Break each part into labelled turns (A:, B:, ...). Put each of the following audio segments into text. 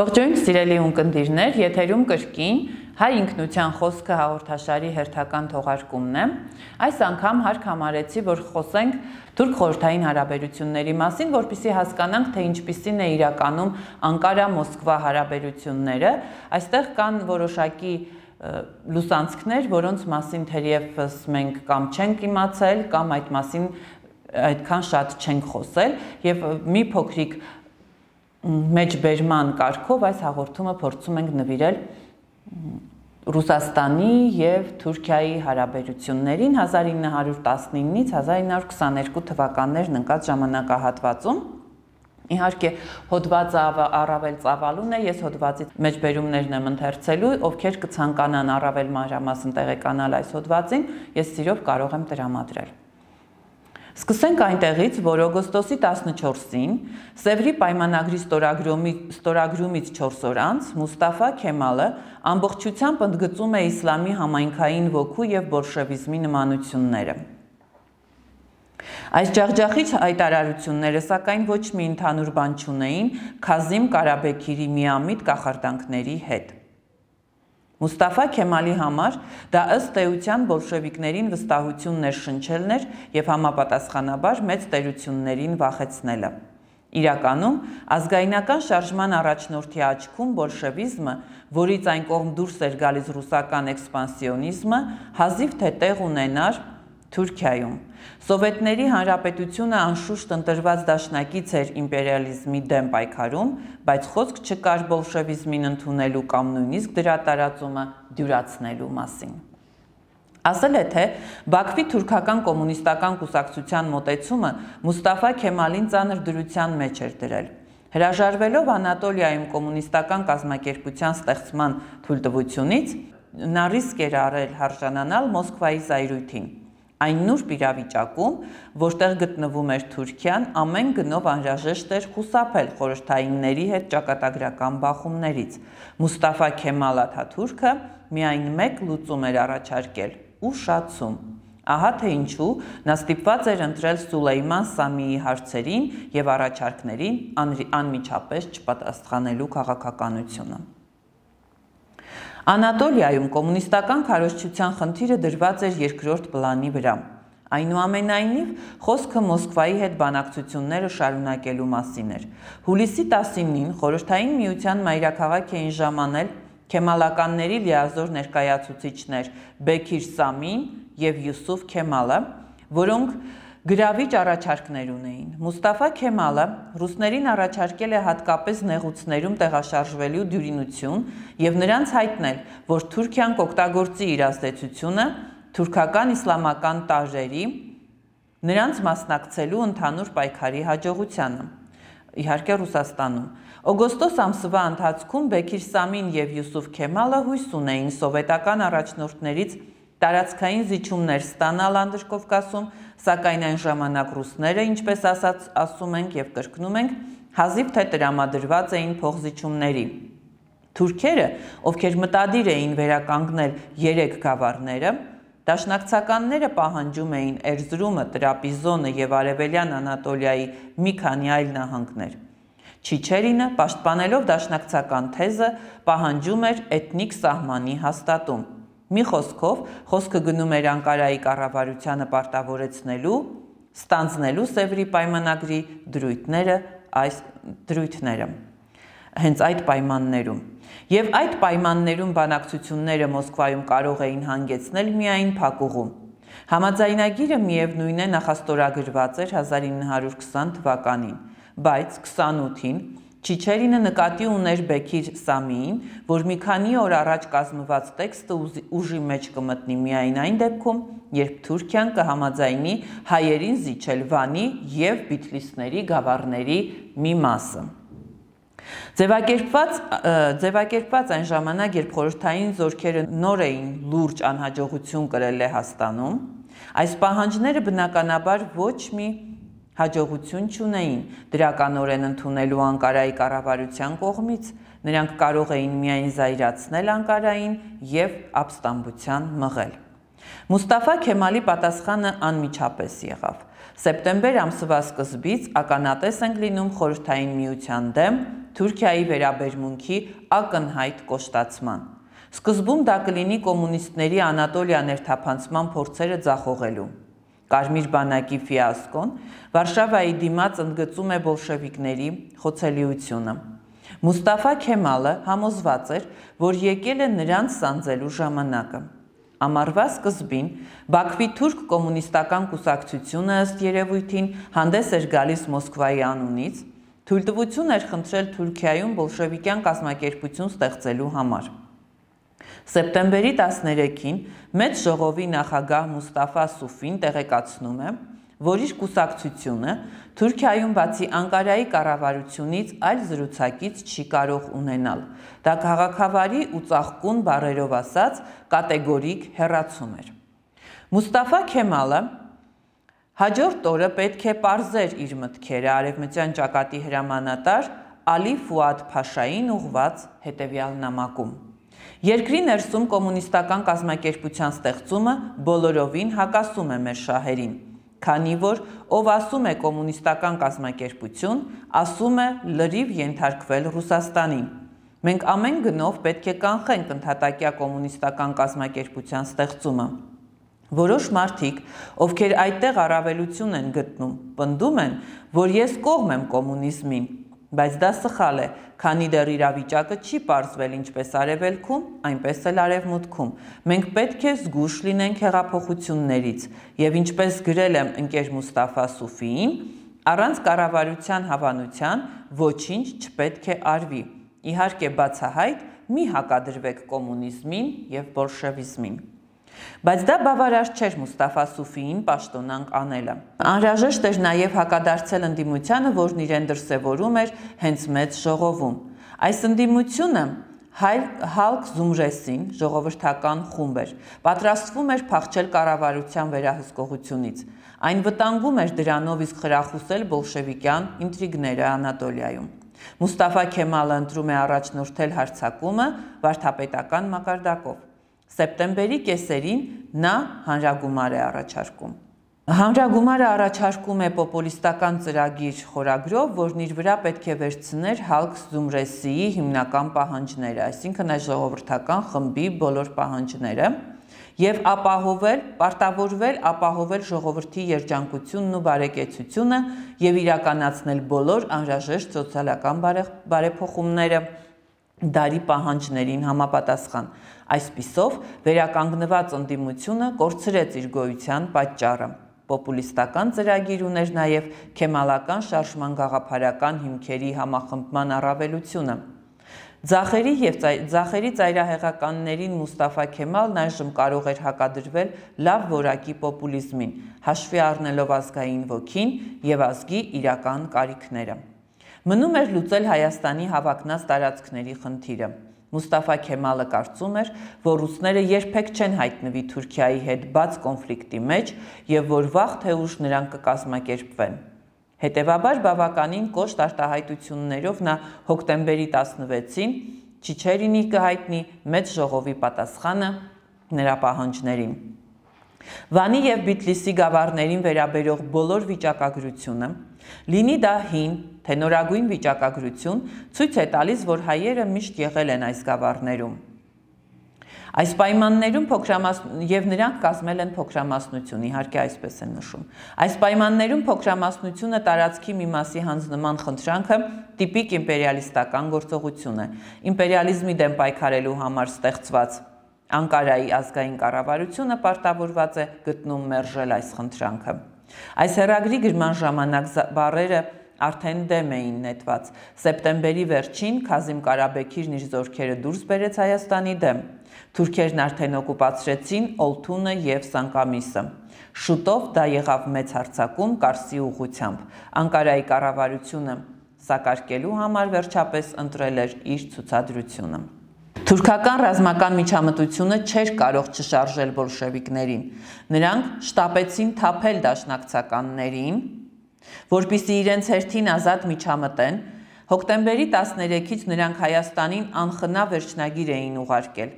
A: Ողջույն սիրելի ունկնդիրներ, եթերում կրկին հայ ինքնության խոսքը հաղորդաշարի հերթական թողարկումն է։ Այս անգամ հարկ համարեցի, որ խոսենք թուրք-խորհրդային հարաբերությունների մասին, որպեսզի հասկանանք, թե ինչպիսին է իրականում Անկարա-Մոսկվա հարաբերությունները։ Այստեղ կան որոշակի լուսանցքներ, որոնց մասին թերևս մենք կամ չենք իմացել, կամ այդ մասին այդքան շատ չենք խոսել, եւ մի փոքրիկ մեջբերման կարգով այս հաղորդումը փորձում ենք նվիրել Ռուսաստանի եւ Թուրքիայի հարաբերություններին 1919-ից 1922 թվականներն ընկած ժամանակահատվածում։ Իհարկե հոդվածը առավել ծավալուն է, ես հոդվածի մեջբերումներն եմ ընթերցելու, ովքեր կցանկանան առավել մանրամասն տեղեկանալ այս հոդվածին, ես սիրով կարող եմ տրամադրել։ Սկսենք այնտեղից, որ օգոստոսի 14-ին Սևրի պայմանագրի ստորագրումից 4 օր անց Մուստաֆա Քեմալը ամբողջությամբ ընդգծում է իսլամի համայնքային ոգու եւ բոլշևիզմի նմանությունները։ Այս ջախջախիչ հայտարարությունները սակայն ոչ մի ընդհանուր բան չունեին Քազիմ Կարաբեքիրի միամիտ կախարդանքների հետ։ Մուստաֆա Քեմալի համար դա ըստ էության բոլշևիկներին վստահություն ներշնչելն էր եւ համապատասխանաբար մեծ տերություններին վախեցնելը։ Իրականում ազգայնական շարժման առաջնորդի աչքում բոլշևիզմը, որից այն կողմ դուրս էր գալիս ռուսական էքսպանսիոնիզմը, հազիվ թե տեղ ունենար Թուրքիայում։ Սովետների հանրապետությունը անշուշտ ընտրված դաշնակից էր իմպերիալիզմի դեմ պայքարում, բայց խոսք չկար բոլշևիզմին ընդունելու կամ նույնիսկ դրա տարածումը դյուրացնելու մասին։ Ասել է, թե Բաքվի թուրքական կոմունիստական կուսակցության մոտեցումը Մուստաֆա Քեմալին ծանր դրության մեջ էր դրել։ Հրաժարվելով Անատոլիայում կոմունիստական կազմակերպության ստեղծման թույլտվությունից, նա ռիսկ էր արել հարժանանալ Մոսկվայի զայրույթին։ Այն նուրբ իրավիճակում, որտեղ գտնվում էր Թուրքիան, ամեն գնով անհրաժեշտ էր խուսափել խորհրդայինների հետ ճակատագրական բախումներից։ Մուստաֆա Քեմալ Աթաթուրքը միայն մեկ լուծում էր առաջարկել՝ ուշացում։ Ահա թե ինչու նա ստիպված էր ընտրել Սուլեյման Սամիի հարցերին եւ առաջարկներին անմիջապես չպատասխանելու քաղաքականությունը։ Անատոլիայում կոմունիստական քարոզչության խնդիրը դրված էր երկրորդ պլանի վրա։ Այնուամենայնիվ, խոսքը Մոսկվայի հետ բանակցությունները շարունակելու մասին էր։ Հուլիսի 19-ին Խորհրդային Միության մայրաքաղաք էին ժամանել քեմալականների լիազոր ներկայացուցիչներ Բեքիր Սամին եւ Յուսուֆ Քեմալը, որոնք գրավիչ առաջարկներ ունեին։ Մուստաֆա Քեմալը ռուսներին առաջարկել է հատկապես նեղուցներում տեղաշարժվելու դյուրինություն եւ նրանց հայտնել, որ Թուրքիան կօգտագործի իր ազդեցությունը թուրքական իսլամական տարրերի նրանց մասնակցելու ընդհանուր պայքարի հաջողությանը։ Իհարկե Ռուսաստանում։ Օգոստոս ամսվա ընթացքում Բեքիր Սամին եւ Յուսուֆ Քեմալը հույս ունեին սովետական առաջնորդներից տարածքային զիջումներ ստանալ Անդրկովկասում, սակայն այն ժամանակ ռուսները, ինչպես ասում ենք եւ կրկնում ենք, հազիվ թե տրամադրված էին փոխզիջումների։ Թուրքերը, ովքեր մտադիր էին վերականգնել 3 գավառները, դաշնակցականները պահանջում էին Էրզրումը, Տրապիզոնը եւ Արևելյան Անատոլիայի մի քանի այլ նահանգներ։ Չիչերինը, պաշտպանելով դաշնակցական թեզը, պահանջում էր էթնիկ սահմանի հաստատում։ Մի խոսքով, խոսքը գնում էր Անկարայի կառավարությանը պարտավորեցնելու, ստանձնելու Սևրի պայմանագրի դրույթները, հենց այդ պայմաններում։ Եվ այդ պայմաններում բանակցությունները Մոսկվայում կարող էին հանգեցնել միայն փակուղում։ Համաձայնագիրը միևնույն է նախաստորագրված էր 1920 թվականին, բայց 28-ին Չիչերինը նկատի ուներ Բեքիր Սամիին, որ մի քանի օր առաջ կազմված տեքստը ուժի մեջ կմտնի միայն այն դեպքում, երբ Թուրքիան կհամաձայնի հայերին զիջել Վանի եւ Բիթլիսների գավառների մի մասը։ Ձևակերպված այն ժամանակ, երբ խորհրդային զորքերը նոր էին լուրջ անհաջողություն կրել Լեհաստանում, այս պահանջները բնականաբար ոչ մի հաջողություն չունեին դրականորեն ընդունելու Անկարայի կառավարության կողմից, նրանք կարող էին միայն զայրացնել Անկարային եւ ապստամբության մղել։ Մուստաֆա Քեմալի պատասխանը անմիջապես եղավ։ Սեպտեմբեր ամսվա սկզբից ականատես ենք լինում Խորհրդային Միության դեմ Թուրքիայի վերաբերմունքի ակնհայտ կոշտացման։ Սկզբում դա կլինի կոմունիստների Անատոլիա ներթափանցման փորձերը ձախողելու։ Կարմիր բանակի ֆիասկոն Վարշավայի դիմաց ընդգծում է բոլշևիկների խոցելիությունը։ Մուստաֆա Քեմալը համոզված էր, որ եկել է նրանց սանձելու ժամանակը։ Ամառվա սկզբին Բաքվի թուրք կոմունիստական կուսակցությունը ըստ երևույթին հանդես էր գալիս Մոսկվայի անունից, թույլտվություն էր խնդրել Թուրքիայում բոլշևիկյան կազմակերպություն ստեղծելու համար։ Սեպտեմբերի 13-ին մեծ ժողովի նախագահ Մուստաֆա Սուֆին տեղեկացնում է, որ իր կուսակցությունը Թուրքիայում բացի Անկարայի կառավարությունից այլ զրուցակից չի կարող ունենալ։ Դա քաղաքավարի ու ծաղկուն բառերով ասած կատեգորիկ հեռացում էր։ Մուստաֆա Քեմալը հաջորդ օրը պետք է պարզեր իր մտքերը արևմտյան ճակատի հրամանատար Ալի Ֆուադ Փաշային ուղված հետևյալ նամակում. Երկրի ներսում կոմունիստական կազմակերպության ստեղծումը բոլորովին հակասում է մեր շահերին, քանի որ ով ասում է կոմունիստական կազմակերպություն, ասում է լրիվ ենթարկվել Ռուսաստանին։ Մենք ամեն գնով պետք է կանխենք ընդհատակյա կոմունիստական կազմակերպության ստեղծումը։ Որոշ մարդիկ, ովքեր այդտեղ առավելություն են գտնում, պնդում են, որ ես կողմ եմ կոմունիզմին, բայց դա սխալ է, քանի դեռ իրավիճակը չի պարզվել ինչպես արևելքում, այնպես էլ արևմուտքում։ Մենք պետք է զգույշ լինենք հեղափոխություններից եւ ինչպես գրել եմ ընկեր Մուստաֆա Սուֆիին, առանց կառավարության հավանության ոչինչ չպետք է արվի։ Իհարկե բացահայտ մի հակադրվեք կոմունիզմին եւ բոլշևիզմին։ Բայց դա բավարար չէր Մուստաֆա Սուֆիին պաշտոնանկ անելը։ Անհրաժեշտ էր նաև հակադարձել ընդդիմությանը, որն իրեն դրսևորում էր հենց մեծ ժողովում։ Այս ընդդիմությունը Halk Zumresին ժողովրդական խումբ էր, պատրաստվում էր փախչել կառավարության վերահսկողությունից։ Այն վտանգում էր դրանով իսկ խրախուսել բոլշևիկյան ինտրիգները Անատոլիայում։ Մուստաֆա Քեմալը ընտրում է առաջնորդել հարձակումը վարդապետական մակարդակով։ Սեպտեմբերի կեսերին նա հանրագումար է առաջարկում։ Հանրագումարը առաջարկում է պոպուլիստական ծրագիր խորագրով, որն իր վրա պետք է վերցներ Halk Zumresիի հիմնական պահանջները, այսինքն այս ժողովրդական խմբի բոլոր պահանջները, եւ ապահովել ժողովրդի երջանկությունն ու բարեկեցությունը եւ իրականացնել բոլոր անհրաժեշտ սոցիալական բարեփոխումները դարի պահանջներին համապատասխան։ Այսպիսով վերականգնված ընդդիմությունը կորցրեց իր գոյության պատճառը։ Պոպուլիստական ծրագիր ուներ նաև քեմալական շարժման գաղափարական հիմքերի համախմբման առավելությունը։ Ձախերի ծայրահեղականներին Մուստաֆա Քեմալն այժմ կարող էր հակադրվել լավ որակի պոպուլիզմին, հաշվի առնելով ազգային ոգին եւ ազգի իրական կարիքները։ Մնում էր լուծել Հայաստանի հավակնած տարածքների խնդիրը։ Մուստաֆա Քեմալը կարծում էր, որ ռուսները երբեք չեն հայտնվի Թուրքիայի հետ բաց կոնֆլիկտի մեջ եւ որ վաղ թե ուշ նրանք կկազմակերպվեն։ Հետևաբար բավականին կոշտ արտահայտություններով նա հոկտեմբերի 16-ին Չիչերինի կհայտնի մեծ ժողովի պատասխանը նրա պահանջներին։ Վանի եւ Բիթլիսի գավառներին վերաբերող բոլոր վիճակագրությունը, լինի դա հին, թե նորագույն վիճակագրություն, ցույց է տալիս, որ հայերը միշտ եղել են այս գավառներում։ Այս պայմաններում եւ նրանք կազմել են փոքրամասնություն, իհարկե այսպես են նշում։ Այս պայմաններում փոքրամասնությունը տարածքի մի մասի հանձնման խնդրանքը տիպիկ իմպերիալիստական գործողություն է։ Իմպերիալիզմի դեմ պայքարելու համար ստեղծված Անկարայի ազգային կառավարությունը պարտավորված է գտնում մերժել այս խնդրանքը։ Այս հեռագրի գրման ժամանակ բառերը արդեն դեմ էին նետված։ Սեպտեմբերի վերջին Քազիմ Կարաբեքիրն իր զորքերը դուրս բերեց Հայաստանի դեմ։ Թուրքերն արդեն օկուպացրեցին Օլթունը եւ Սանկամիսը։ Շուտով դա եղավ մեծ հարձակում Կարսի ուղղությամբ։ Անկարայի կառավարությունը սակարկելու համար վերջապես ընտրել էր իր ցուցադրությունը։ Թուրքական ռազմական միջամտությունը չէր կարող չշարժել բոլշևիկներին։ Նրանք շտապեցին թափել դաշնակցականներին, որպեսզի իրենց հերթին ազատ միջամտեն։ Հոկտեմբերի 13-ից նրանք Հայաստանին անխնա վերջնագիր էին ուղարկել։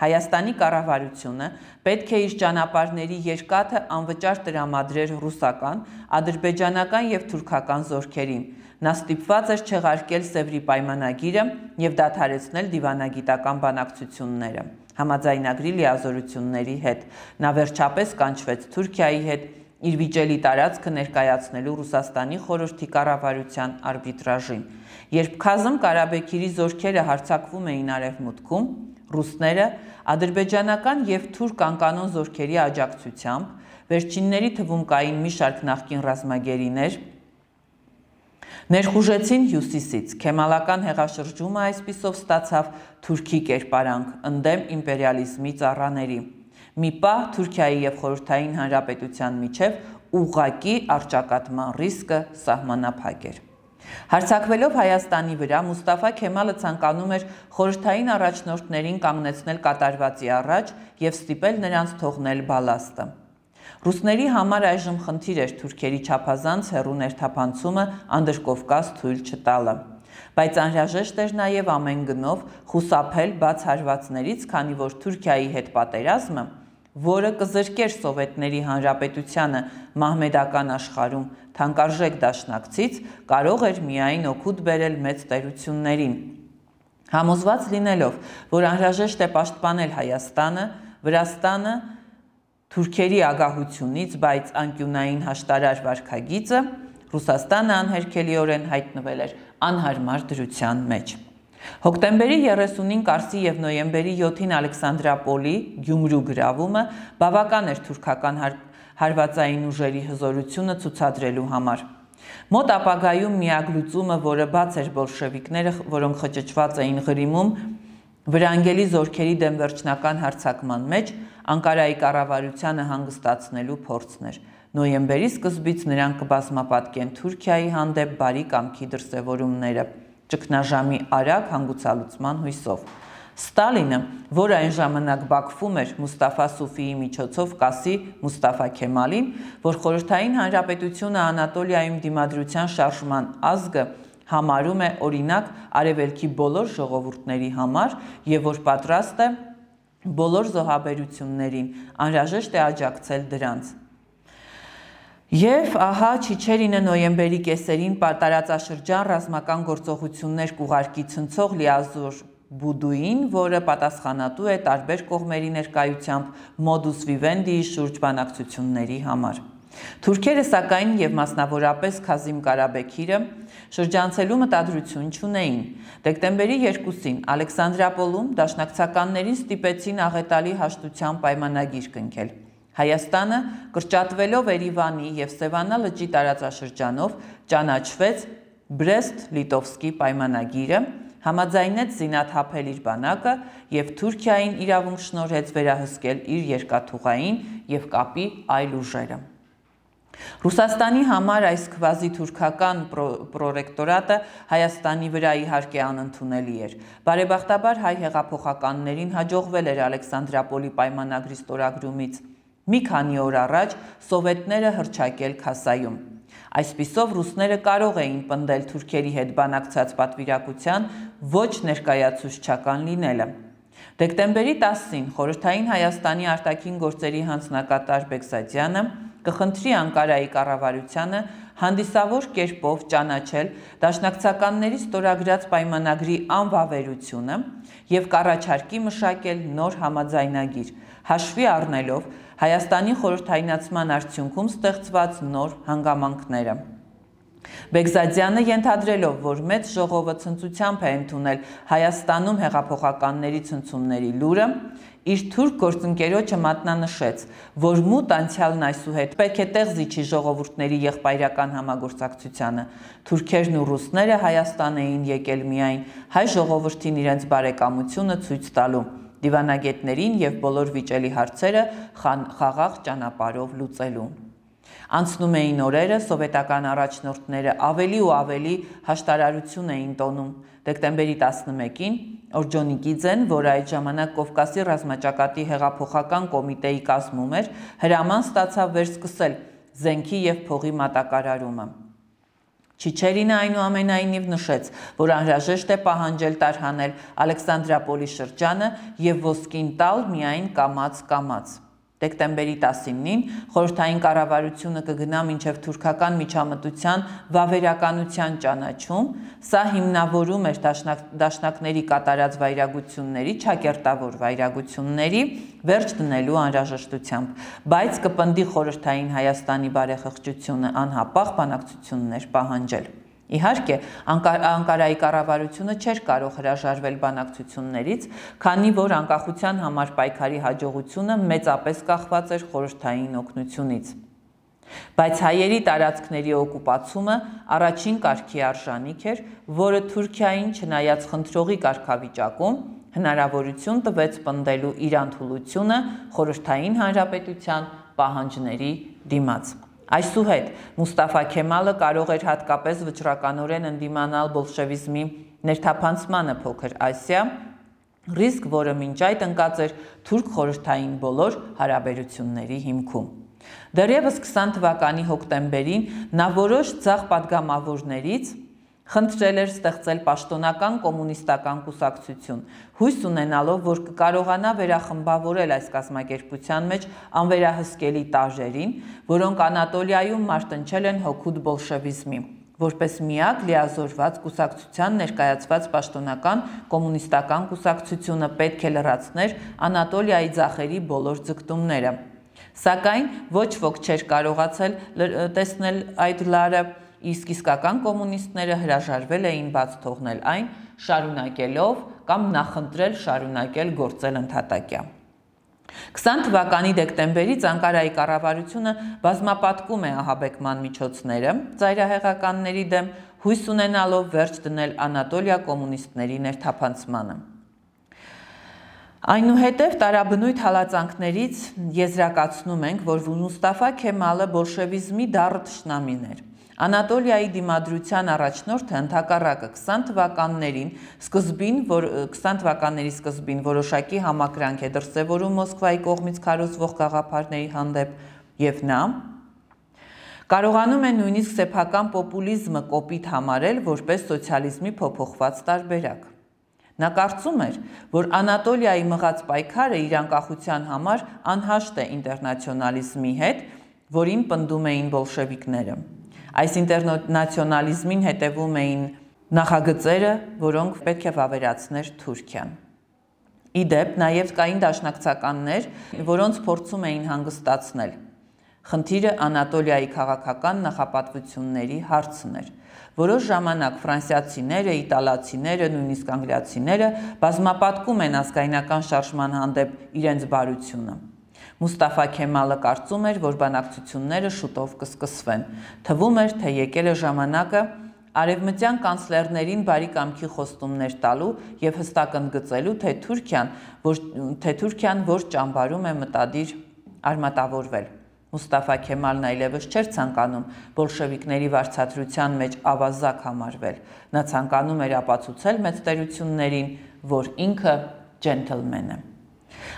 A: Հայաստանի կառավարությունը պետք է իր ճանապարհների երկաթը անվճար տրամադրեր ռուսական, ադրբեջանական եւ թուրքական զորքերին։ Նա ստիպված էր չեղարկել Սևրի պայմանագիրը և դադարեցնել դիվանագիտական բանակցությունները։ Համաձայնագրի լիազորությունների հետ նա վերջապես կանչվեց Թուրքիայի հետ իր վիճելի տարածքը ներկայացնելու Ռուսաստանի խորհրդի կառավարության արբիտրաժին։ Երբ Քազմ Կարաբեքիրի զորքերը հարձակվում էին Արևմուտքում, ռուսները ադրբեջանական և թուրք անկանոն զորքերի աջակցությամբ, վերջինների թվում կային մի շարք նախկին ռազմագերիներ, ներխուժեցին հյուսիսից։ Քեմալական հեղաշրջումը այսպիսով ստացավ թուրքի կերպարանք ընդդեմ իմպերիալիզմի ծառաների։ Մի պահ Թուրքիայի և Խորհրդային Հանրապետության միջև ուղղակի առճակատման ռիսկը սահմանափակ էր։ Հարձակվելով Հայաստանի վրա, Մուստաֆա Քեմալը ցանկանում էր խորհրդային առաջնորդներին կանգնեցնել կատարվածի առաջ և ստիպել նրանց թողնել բալաստը։ Ռուսների համար այժմ խնդիր էր թուրքերի չափազանց հեռու ներթափանցումը Անդրկովկաս թույլ չտալը, բայց անհրաժեշտ էր նաև ամեն գնով խուսափել բաց հարվածներից, քանի որ Թուրքիայի հետ պատերազմը, որը կզրկեր Սովետների Հանրապետությանը մահմեդական աշխարհում թանկարժեք դաշնակցից, կարող էր միայն օգուտ բերել մեծ տերություններին։ Համոզված լինելով, որ անհրաժեշտ է պաշտպանել Հայաստանը, Վրաստանը թուրքերի ագահությունից, բայց անկյունային հաշտարար վարքագիծը, Ռուսաստանը անհերքելիորեն հայտնվել էր անհարմար դրության մեջ։ Հոկտեմբերի 30-ին Կարսի և նոյեմբերի 7-ին Ալեքսանդրապոլի Գյումրու գրավումը բավական էր թուրքական հարվածային ուժերի հզորությունը ցուցադրելու համար։ Մոտ ապագայում միակ լուծումը, որը բաց էր բոլշևիկները, որոնք խճճված էին Ղրիմում, վրանգելի զորքերի դեմ վերջնական հարձակման մեջ, Անկարայի կառավարությանը հանգստացնելու փորձն էր։ Նոյեմբերի սկզբից նրանք կբազմապատկեն Թուրքիայի հանդեպ բարի կամքի դրսևորումները, ճգնաժամի արագ հանգուցալուծման հույսով։ Ստալինը, որ այն ժամանակ Բաքվում էր, Մուստաֆա Սուֆիի միջոցով կասի Մուստաֆա Քեմալին, որ Խորհրդային Հանրապետությունը Անատոլիայում դիմադրության շարժման ազգը համարում է օրինակ արևելքի բոլոր ժողովուրդների համար և որ պատրաստ է բոլոր զոհաբերություններին, անհրաժեշտ է աջակցել դրանց։ Եվ ահա Չիչերինը նոյեմբերի կեսերին տարածաշրջան ռազմական գործողություններ կուղարկի ցնցող լիազոր Բուդուին, որը պատասխանատու է տարբեր կողմերի ներկայությամբ մոդուս վիվենդիի շուրջ բանակցությունների համար։ Թուրքերը սակայն և մասնավորապես Քազիմ Կարաբեքիրը շրջանցելու մտադրություն չունեին։ Դեկտեմբերի 2-ին Ալեքսանդրապոլում դաշնակցականներին ստիպեցին աղետալի հաշտության պայմանագիր կնքել։ Հայաստանը, կրճատվելով Երևանի և Սևանա լճի տարածաշրջանով, ճանաչվեց Բրեստ-Լիտովսկի պայմանագիրը, համաձայնեց զինաթափել իր բանակը և Թուրքիային իրավունք շնորհեց վերահսկել իր երկաթուղային և կապի այլ ուժերը։ Ռուսաստանի համար այս քվազի-թուրքական պրոտեկտորատը Հայաստանի վրա իհարկե անընդունելի էր։ Բարեբախտաբար հայ հեղափոխականներին հաջողվել էր Ալեքսանդրապոլի պայմանագրի ստորագրումից մի քանի օր առաջ սովետները հռչակել Քասայում։ Այսպիսով ռուսները կարող էին պնդել թուրքերի հետ բանակցած պատվիրակության ոչ ներկայացուցչական լինելը։ Դեկտեմբերի 10-ին Խորհրդային Հայաստանի արտաքին գործերի հանձնակատար Բեգզադյանը կխնդրի Անկարայի կառավարությանը հանդիսավոր կերպով ճանաչել դաշնակցականների ստորագրած պայմանագրի անվավերությունը և կառաջարկի մշակել նոր համաձայնագիր, հաշվի առնելով Հայաստանի խորհրդայնացման արդյունքում ստեղծված նոր հանգամանքները։ Բեգզադյանը ենթադրելով, որ մեծ ժողովը ցնծությամբ է ընդունել Հայաստանում հեղափոխականների ցնցումների լուրը, իր թուրք գործընկերոջը մատնանշեց, որ մութ անցյալն այսուհետ պետք է տեղ զիջի ժողովուրդների եղբայրական համագործակցությանը։ Թուրքերն ու ռուսները Հայաստան էին եկել միայն հայ ժողովրդին իրենց բարեկամությունը ցույց տալու, դիվանագետներին և բոլոր վիճելի հարցերը խաղաղ ճանապարհով լուծելու։ Անցնում էին օրերը, սովետական առաջնորդները ավելի ու ավելի հաշտարարություն էին տոնում։ Դեկտեմբերի 11-ին Օրջոնիկիձեն, որը այդ ժամանակ Կովկասի ռազմաճակատի հեղափոխական կոմիտեի կազմում էր, հրաման ստացավ վերսկսել զենքի և փողի մատակարարումը։ Չիչերինը այնուամենայնիվ նշեց, որ անհրաժեշտ է պահանջել տարհանել Ալեքսանդրապոլի շրջանը և ոսկին տալ միայն կամաց-կամաց։ Դեկտեմբերի 19-ին խորհրդային կառավարությունը կգնա մինչև թուրքական միջամտության վավերականության ճանաչում, սա հիմնավորում էր դաշնակների կատարած վայրագությունների, չակերտավոր վայրագությունների վերջ դնելու անհրաժեշտությամբ, բայց կպնդի խորհրդային Հայաստանի բարեխղճությունը անհապաղ բանակցություններ պահանջել։ Իհարկե, Անկարայի կառավարությունը չէր կարող հրաժարվել բանակցություններից, քանի որ անկախության համար պայքարի հաջողությունը մեծապես կախված էր խորհրդային օգնությունից։ Բայց հայերի տարածքների օկուպացումը առաջին կարգի արժանիք էր, որը Թուրքիային, չնայած խնդրողի կարգավիճակում, հնարավորություն տվեց պնդելու իր անդուլությունը խորհրդային հանրապետության պահանջների դիմաց։ Այսուհետ Մուստաֆա Քեմալը կարող էր հատկապես վճռականորեն ընդդիմանալ բոլշևիզմի ներթափանցմանը Փոքր Ասիա, ռիսկ, որը մինչ այդ ընկած էր թուրք խորհրդային բոլոր հարաբերությունների հիմքում։ Դեռևս 20 թվականի հոկտեմբերին նա որոշ ձախ պատգամավորներից խնդրել էր ստեղծել պաշտոնական կոմունիստական կուսակցություն, հույս ունենալով, որ կկարողանա վերախմբավորել այս կազմակերպության մեջ անվերահսկելի տարրերին, որոնք Անատոլիայում մարտնչել են հօգուտ բոլշևիզմի, որպես միակ լիազորված կուսակցության ներկայացված պաշտոնական կոմունիստական կուսակցությունը պետք է լրացներ Անատոլիայի ձախերի բոլոր ձգտումները։ Սակայն ոչ ոք չէր կարողացել տեսնել այդ լարը, իսկ իսկական կոմունիստները հրաժարվել էին բաց թողնել այն, շարունակելով կամ նախընտրել շարունակել գործել ընդհատակյա։ 20 թվականի դեկտեմբերից Անկարայի կառավարությունը բազմապատկում է ահաբեկման միջոցները ծայրահեղականների դեմ, հույս ունենալով վերջ դնել Անատոլիա կոմունիստների ներթափանցմանը։ Այնուհետև տարաբնույթ հալածանքներից եզրակացնում ենք, որ Մուստաֆա Քեմալը բոլշևիզմի դառը թշնամին էր։ Անատոլիայի դիմադրության առաջնորդը ընդհակառակը 20 թվականների սկզբին որոշակի համակրանք է դրսևորում Մոսկվայի կողմից քարոզվող գաղափարների հանդեպ, եւ նա կարողանում է նույնիսկ սեփական պոպուլիզմը կոպիտ համարել որպես սոցիալիզմի փոփոխված տարբերակ։ Նա կարծում էր, որ Անատոլիայի մղած պայքարը իր անկախության համար անհաշտ է ինտերնացիոնալիզմի հետ, որին պնդում էին բոլշևիկները։ Այս ինտերնացիոնալիզմին հետևում էին նախագծերը, որոնք պետք է վավերացներ Թուրքիան։ Ի դեպ, նաև կային դաշնակցականներ, որոնց փորձում էին հանգստացնել։ Խնդիրը Անատոլիայի քաղաքական նախապատվությունների հարցն էր։ Որոշ ժամանակ ֆրանսիացիները, իտալացիները, նույնիսկ անգլիացիները բազմապատկում են ազգայնական շարժման հանդեպ իրենց բարությունը։ Մուստաֆա Քեմալը կարծում էր, որ բանակցությունները շուտով կսկսվեն։ Թվում էր, թե եկել է ժամանակը արևմտյան կանցլերներին բարի կամքի խոստումներ տալու եւ հստակ ընդգծելու, թե Թուրքիան որ ճամբարում է մտադիր արմատավորվել։ Մուստաֆա Քեմալն այլևս չէր ցանկանում բոլշևիկների վարձատրության մեջ ավազակ համարվել։ Նա ցանկանում էր ապացուցել մեծ տերություններին, որ ինքը ջենթլմեն է։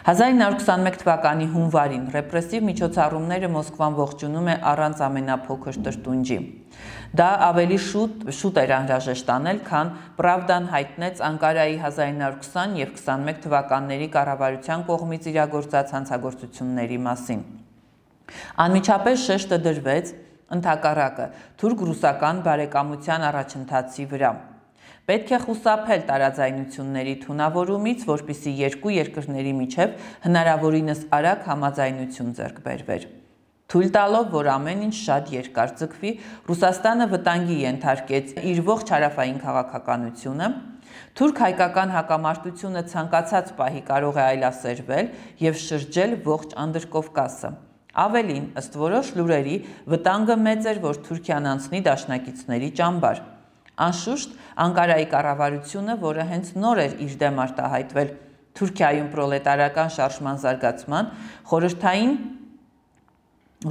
A: 1921 թվականի հունվարին ռեպրեսիվ միջոցառումները Մոսկվան ողջունում է առանց ամենափոքր տրտունջի։ Դա ավելի շուտ էր անհրաժեշտ անել, քան Պրավդան հայտնեց Անկարայի 1920 եւ 21 թվականների կառավարության կողմից իրագործած հանցագործությունների մասին։ Անմիջապես շեշտը դրվեց ընդհակառակը թուրք-ռուսական բարեկամության առաջընթացի վրա։ Պետք է խուսափել տարաձայնությունների թունավորումից, որպեսզի երկու երկրների միջև հնարավորինս արագ համաձայնություն ձեռք բերվեր։ Թույլ տալով, որ ամեն ինչ շատ երկար ձգվի, Ռուսաստանը վտանգի ենթարկեց իր ողջ հարավային քաղաքականությունը, թուրք-հայկական հակամարտությունը ցանկացած պահի կարող է այլասերվել եւ շրջել ողջ Անդրկովկասը։ Ավելին, ըստ որոշ լուրերի, վտանգը մեծ էր, որ Թուրքիան անցնի դաշնակիցների ճամբար։ Անշուշտ, Անկարայի կառավարությունը, որը հենց նոր էր իր դեմ արտահայտվել Թուրքիայում պրոլետարական շարժման զարգացման, խորհրդային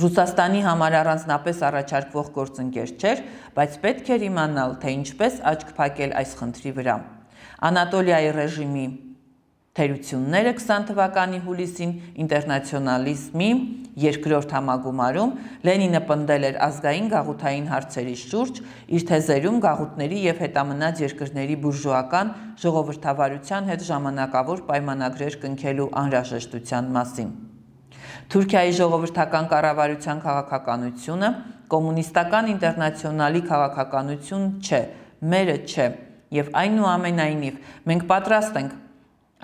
A: Ռուսաստանի համար առանձնապես առաջարկվող գործընկեր չէր, բայց պետք էր իմանալ, թե ինչպես աչք փակել այս խնդրի վրա։ Անատոլիայի ռեժիմի թերությունները 20 թվականի հուլիսին ինտերնացիոնալիզմի երկրորդ համագումարում Լենինը պնդել էր ազգային գաղութային հարցերի շուրջ, իր թեզերում գաղութների եւ հետամնաց երկրների բուրժուական ժողովրդավարության հետ ժամանակավոր պայմանագրեր կնքելու անհրաժեշտության մասին։ Թուրքիայի ժողովրդական կառավարության քաղաքականությունը կոմունիստական ինտերնացիոնալի քաղաքականություն չէ, մերը չէ, եւ այնուամենայնիվ մենք պատրաստ ենք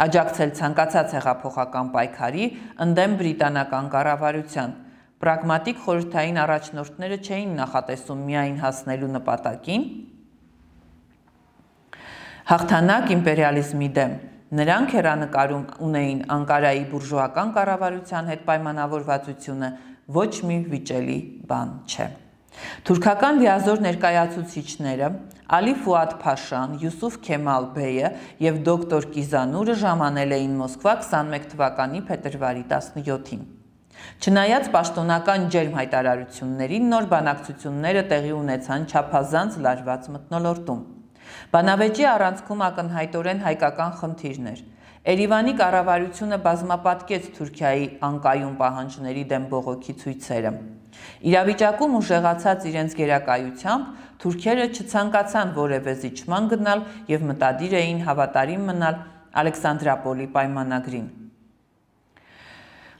A: աջակցել ցանկացած հեղափոխական պայքարի ընդդեմ բրիտանական կառավարության։ Պրագմատիկ խորհրդային առաջնորդները չէին նախատեսում միայն հասնելու նպատակին հաղթանակ իմպերիալիզմի դեմ, նրանք հեռանկարում ունեին Անկարայի բուրժուական կառավարության հետ պայմանավորվածությունը ոչ մի վիճելի բան չէ։ Թուրքական լիազոր ներկայացուցիչները Ալի Ֆուադ Փաշան, Յուսուֆ Քեմալ Բեյը եւ դոկտոր Կիզանուրը ժամանել էին Մոսկվա 21 թվականի փետրվարի 17-ին։ Չնայած պաշտոնական ջերմ հայտարարություններին, նոր բանակցությունները տեղի ունեցան չափազանց լարված մթնոլորտում։ Բանավեճի առանցքում ակնհայտորեն հայկական խնդիրներ։ Երևանի կառավարությունը բազմապատկեց Թուրքիայի անկայուն պահանջների դեմ բողոքի ցույցերը։ Իրավիճակում ուժեղացած իրենց գերակայությամբ թուրքերը չցանկացան որևէ զիջման գնալ եւ մտադիր էին հավատարիմ մնալ Ալեքսանդրապոլի պայմանագրին։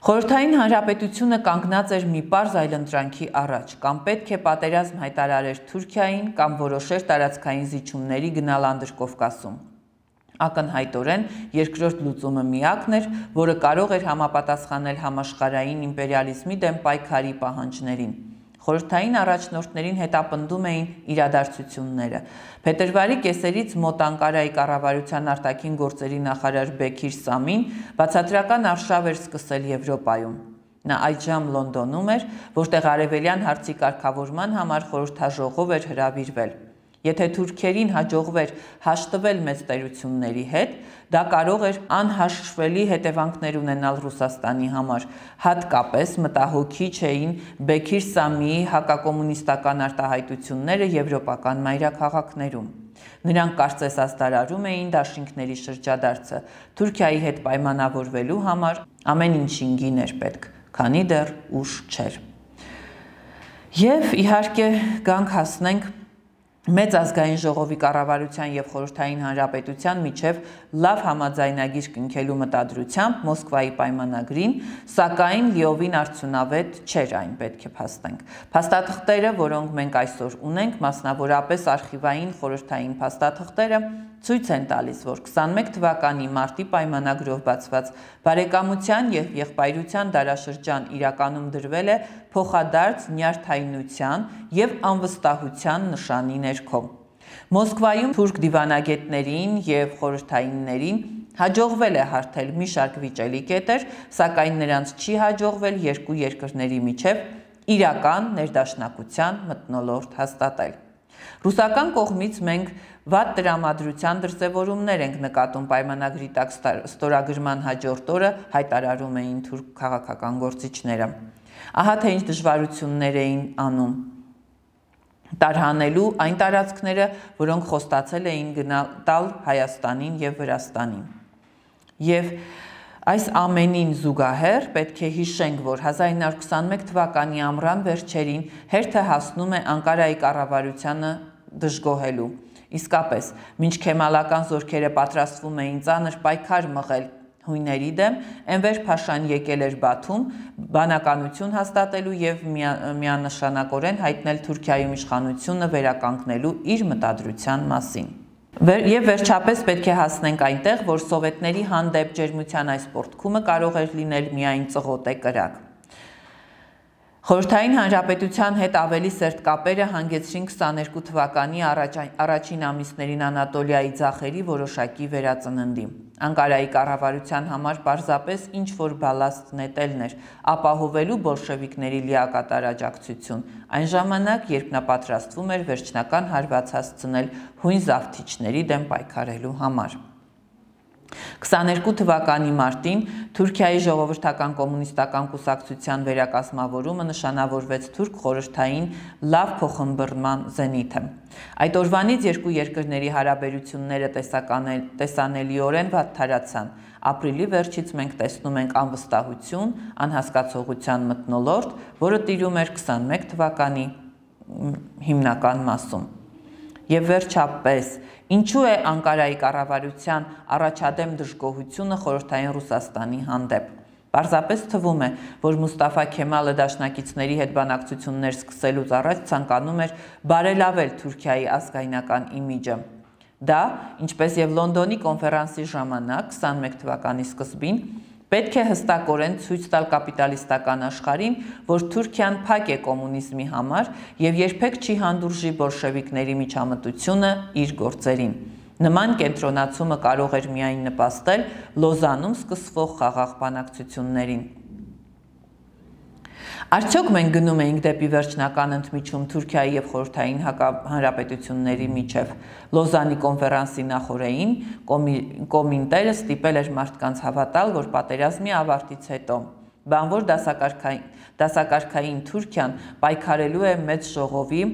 A: Խորհրդային Հանրապետությունը կանգնած էր մի պարզ այլընտրանքի առաջ, կամ պետք է պատերազմ հայտարարեր Թուրքիային, կամ որոշեր տարածքային զիջումների գնալ Անդրկովկասում։ Ակնհայտորեն երկրորդ լուծումը միակն էր, որը կարող էր համապատասխանել համաշխարհային իմպերիալիզմի դեմ պայքարի պահանջներին։ Խորհրդային առաջնորդներին հետապնդում էին իրադարձությունները։ Փետրվարի կեսերից մոտ Անկարայի կառավարության արտաքին գործերի նախարար Բեքիր Սամին բացատրական արշավ էր սկսել Եվրոպայում։ Նա այդժամ Լոնդոնում էր, որտեղ արևելյան հարցի կարգավորման համար խորհրդաժողով էր հրավիրվել։ Եթե թուրքերին հաջողվեր հաշտվել մեծ տերությունների հետ, դա կարող էր անհաշվելի հետևանքներ ունենալ Ռուսաստանի համար, հատկապես մտահոգիչ էին Բեքիր Սամիի հակակոմունիստական արտահայտությունները եվրոպական մայրաքաղաքներում։ Նրանք կարծես ասդարարում էին դաշինքների շրջադարձը, Թուրքիայի հետ պայմանավորվելու համար ամեն ինչին գին էր պետք, քանի դեռ ուշ չէր։ Եվ իհարկե գանք հասնենք Մեծ ազգային ժողովի կառավարության եւ Խորհրդային Հանրապետության միջև լավ համաձայնագիր կնքելու մտադրությամբ Մոսկվայի պայմանագրին, սակայն լիովին արդյունավետ չէր այն, պետք է փաստենք։ Փաստաթղթերը, որոնք մենք այսօր ունենք, մասնավորապես արխիվային խորհրդային փաստաթղթերը, ցույց են տալիս, որ 21 թվականի մարտի պայմանագրով բացված բարեկամության եւ եղբայրության դարաշրջան իրականում դրվել է փոխադարձ նյարդայնության եւ անվստահության նշանի ներքո։ Մոսկվայում թուրք դիվանագետներին եւ խորհրդայիններին հաջողվել է հարթել մի շարք վիճելի կետեր, սակայն նրանց չի հաջողվել երկու երկրների միջև իրական ներդաշնակության մթնոլորտ հաստատել։ Ռուսական կողմից մենք վատ տրամադրության դրսևորումներ ենք նկատում պայմանագրի տակ ստորագրման հաջորդ օրը հայտարարում էին թուրք քաղաքական գործիչները։ Ահա թե ինչ դժվարություններ էին անում տարհանելու այն տարածքները, որոնք խոստացել էին տալ Հայաստանին եւ Վրաստանին։ Եվ այս ամենին զուգահեռ պետք է հիշենք, որ 1921 թվականի ամռան վերջերին հերթը հասնում է Անկարայի կառավարությանը դժգոհելու։ Իսկապես, մինչ քեմալական զորքերը պատրաստվում էին ծանր պայքար մղել հույների դեմ, Էնվեր Փաշան եկել էր Բաթում բանականություն հաստատելու եւ միանշանակորեն հայտնել Թուրքիայում իշխանությունը վերականգնելու իր մտադրության մասին։ Եվ վերջապես պետք է հասնենք այնտեղ, որ սովետների հանդեպ ջերմության այս պոռթկումը կարող էր լինել միայն ծղոտե կրակ։ Խորհրդային Հանրապետության հետ ավելի սերտ կապերը հանգեցրին 22 թվականի առաջին ամիսներին Անատոլիայի ձախերի որոշակի վերածննդի։ Անկարայի կառավարության համար պարզապես ինչ-որ բալաստ նետելն էր, ապահովելու բոլշևիկների լիակատար աջակցություն, այն ժամանակ, երբ նա պատրաստվում էր վերջնական հարված հասցնել հույն զավթիչների դեմ պայքարելու համար։ 22 թվականի մարտին Թուրքիայի ժողովրդական կոմունիստական կուսակցության վերակազմավորումը նշանավորվեց թուրք խորհրդային լավ փոխըմբռնման զենիթը։ Այդ օրվանից երկու երկրների հարաբերությունները տեսանելիորեն վատթարացան։ Ապրիլի վերջից մենք տեսնում ենք անվստահություն, անհասկացողության մթնոլորտ, որը տիրում էր 21 թվականի հիմնական մասում։ Եվ վերջապես, ինչու է Անկարայի կառավարության առաջադեմ դժգոհությունը խորհրդային Ռուսաստանի հանդեպ։ Պարզապես թվում է, որ Մուստաֆա Քեմալը դաշնակիցների հետ բանակցություններ սկսելուց առաջ ցանկանում էր բարելավել Թուրքիայի ազգայնական իմիջը։ Դա, ինչպես եւ Լոնդոնի կոնֆերանսի ժամանակ 21 թվականի սկզբին, պետք է հստակորեն ցույց տալ կապիտալիստական աշխարհին, որ Թուրքիան փակ է կոմունիզմի համար եւ երբեք չի հանդուրժի բոլշևիկների միջամտությունը իր գործերին։ Նման կենտրոնացումը կարող էր միայն նպաստել Լոզանում սկսվող խաղաղ բանակցություններին։ Արդյոք մենք գնում էինք դեպի վերջնական ընդմիջում Թուրքիայի եւ Խորհրդային Հանրապետությունների միջև։ Լոզանի կոնֆերանսի նախօրեին կոմինտերը ստիպել էր մարդկանց հավատալ, որ պատերազմի ավարտից հետո բանվոր դասակարգային Թուրքիան պայքարելու է մեծ ժողովի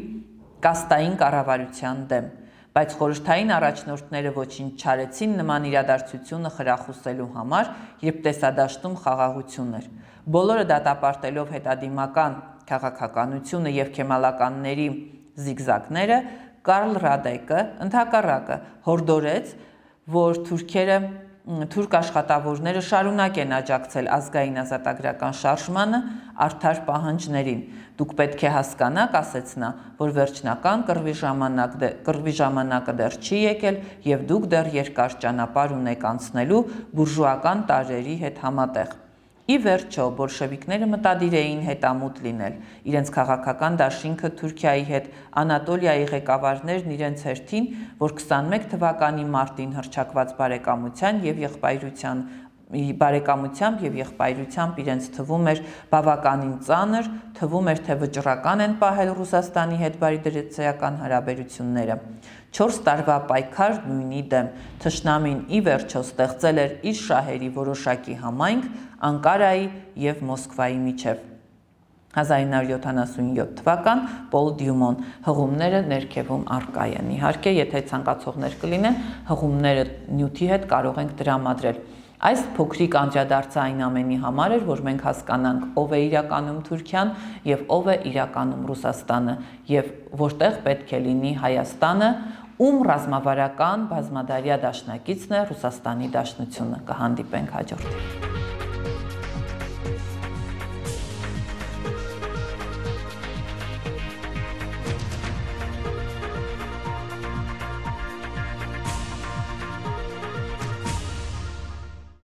A: կաստային կառավարության դեմ, բայց խորհրդային առաջնորդները ոչինչ չարեցին նման իրադարձությունը խրախուսելու համար, երբ տեսադաշտում խաղաղություն էր։ Բոլորը դատապարտելով հետադիմական քաղաքականությունը եւ քեմալականների զիգզակները, Կարլ Ռադեկը ընդհակառակը հորդորեց, որ թուրք աշխատավորները շարունակեն աջակցել ազգային ազատագրական շարժմանը արդար պահանջներին։ Դուք պետք է հասկանաք, ասեց նա, որ վերջնական կռվի ժամանակը դեռ չի եկել եւ դուք դեռ երկար ճանապարհ ունեք անցնելու բուրժուական տարրերի հետ համատեղ։ Ի վերջո, բոլշևիկները մտադիր էին հետամուտ լինել։ Իրենց քաղաքական դաշինքը Թուրքիայի հետ Անատոլիայի ղեկավարներն իրենց հերթին, որ 21 թվականի մարտին հռչակված բարեկամությամբ եւ եղբայրությամբ իրենց թվում էր բավականին ծանր, թվում էր, թե վճռական են պահել Ռուսաստանի հետ բարիդրացիական հարաբերությունները։ 4 տարվա պայքար նույնի դեմ, թշնամին ի վերջո ստեղծել էր իր շահերի որոշակի համայնք Անկարայի եւ Մոսկվայի միջև։ 1977 թվական Պոլ Դյումոն, հղումները ներքևում առկա են։ Իհարկե, եթե ցանկացողներ կլինեն, հղումները նյութի հետ կարող ենք տրամադրել։ Այս փոքրիկ անդրադարձը այն ամենի համար էր, որ մենք հասկանանք ով է իրականում Թուրքիան եւ ով է իրականում Ռուսաստանը եւ որտեղ պետք է լինի Հայաստանը, ում ռազմավարական բազմադարյա դաշնակիցն է Ռուսաստանի Դաշնությունը։ Կհանդիպենք հաջորդ